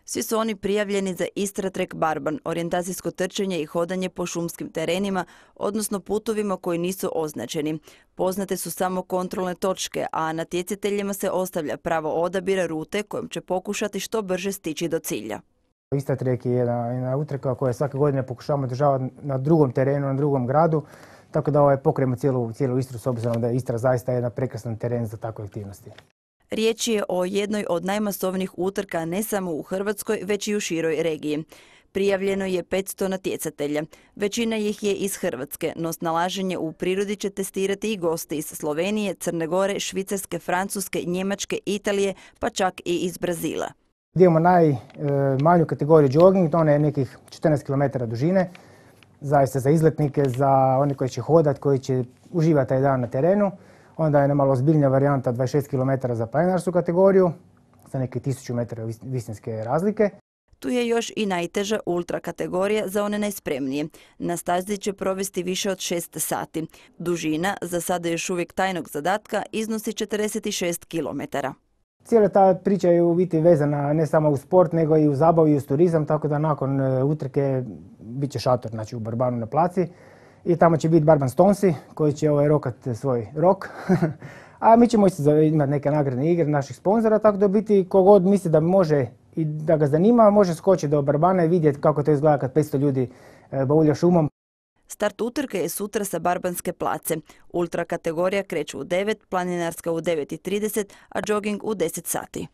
Svi su oni prijavljeni za Istra Trek Barban, orijentacijsko trčanje i hodanje po šumskim terenima, odnosno putovima koji nisu označeni. Poznate su samo kontrolne točke, a natjecateljima se ostavlja pravo odabira rute kojom će pokušati što brže stići do cilja. Istra Trek je jedna utrka koja svake godine pokušavamo održavati na drugom terenu, na drugom gradu, tako da pokrijemo cijelu Istru s obzirom da je Istra zaista jedan prekrasan teren za takve aktivnosti. Riječ je o jednoj od najmasovnijih utrka ne samo u Hrvatskoj, već i u široj regiji. Prijavljeno je 500 natjecatelja. Većina ih je iz Hrvatske, no snalaženje u prirodi će testirati i gosti iz Slovenije, Crne Gore, Švicarske, Francuske, Njemačke, Italije, pa čak i iz Brazila. Imamo najmanju kategoriju jogging, ona je nekih 14 km dužine, zaista za izletnike, za one koji će hodati, koji će uživati taj dan na terenu. Onda je malo ozbiljnija varijanta 26 km za planinarsku kategoriju, sa neke 1000 metara visinske razlike. Tu je još i najteža ultra kategorija za one najspremnije. Na stazi će provesti više od 6 sati. Dužina, za sada još uvijek tajnog zadatka, iznosi 46 km. Cijela ta priča je u biti vezana ne samo u sport, nego i u zabavu i u turizam, tako da nakon utrke bit će šator, znači u Barbanu na placi. I tamo će biti Barban Stonesi koji će rokat svoj rok. A mi ćemo imati neke nagradne igre naših sponzora, tako da biti kogod misli da može i da ga zanima, može skočiti do Barbana i vidjeti kako to izgleda kad 500 ljudi baulja šumom. Start utrke je sutra sa Barbanske place. Ultra kategorija kreće u 9, planinarska u 9:30, a jogging u 10 sati.